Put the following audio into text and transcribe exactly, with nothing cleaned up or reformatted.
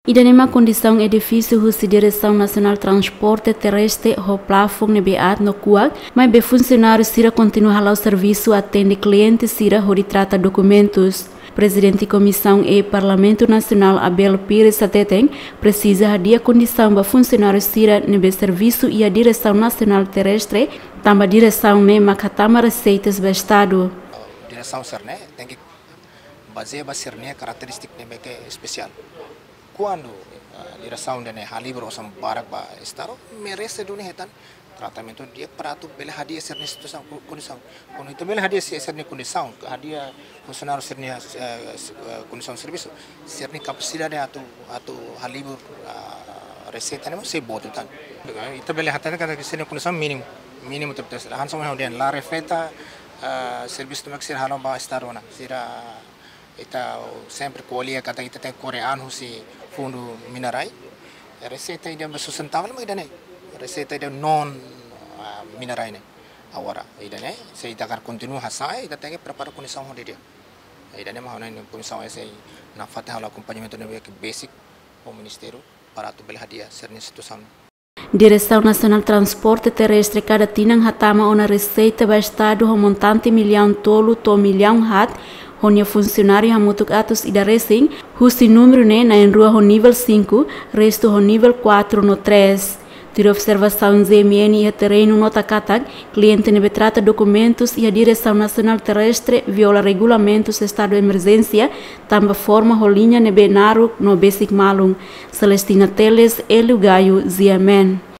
Ida-ne'e mak kondisaun edifísiu husi Diresaun Nasionál Transporte Terrestre ho plafoun ne'ebé aat no kuak, maibé funsionáriu sira kontinua hala'o servisu atende kliente sira hodi trata dokumentus. Prezidente Komisaun E Parlamentu Nasionál Abel Pires hateten, presiza hadi'a kondisaun ba funsionáriu sira ne'ebé servisu iha Diresaun Nasionál Terrestre, tanba diresaun ne'e mak hatama reseitas ba Estadu. Diresaun sira-ne'e tenke bazeia ba sira-nia karakterístika ne'ebé ke espesiál. Kuandu, eh, diresaun ida-ne'e halibur osan barak ba Estadu, merese duni hetan tratamentu di'ak para atu bele hadi'a sira-nia situasaun, ko-, kondisaun. Kuandu ita bele hadi'a si-, sira-nia kondisaun, hadi'a funsionáriu sira-nia, eh, s-, eh, kondisaun servisu, sira-nia kapasidade atu, atu halibur, ah, reseita ne'e mós sei boot tan. Ita bele hateten katak sira-nia kondisaun mínimu, mínimu tebes. Hanesan ohin ha'u dehan, la refleita, ah, servisu ne'ebé ke sira halo ba Estadu ona. Sira, ita sempre ko'alia katak ita tenke kore an husi fundu mina-rai. Reseita ida ne'ebé sustentável mak ida-ne'e. Reseita ida non, ah, mina-rai ne'e. Agora, ida-ne'e, se ita hakarak kontinua hasa'e, ita tenke prepara kondisaun ho di'ak. Ida-ne'e mak ha'u hanoin Komisaun S nafatin halo akompañamentu ne'ebé ke basic ho Ministériu para atu bele hadi'a sira-nia situasaun. Diresaun Nasionál Transporte Terrestre kada tinan hatama ona reseita ba Estadu ho montante millaun tolu to'o millaun haat, ho nia funsionáriu hamutuk atus ida resin, husi númeru ne'e na'in-rua ho nivel cinco, restu ho nivel quatro no três. Tuir observasaun Z M N iha terrenu nota katak, kliente ne'ebé trata dokumentus iha Diresaun Nasionál Terrestre viola regulamentus estadu emerjénsia, tanba forma ho liña ne'ebé naruk no besik malun. Celestina Teles, Hélio Gaio, Z M N.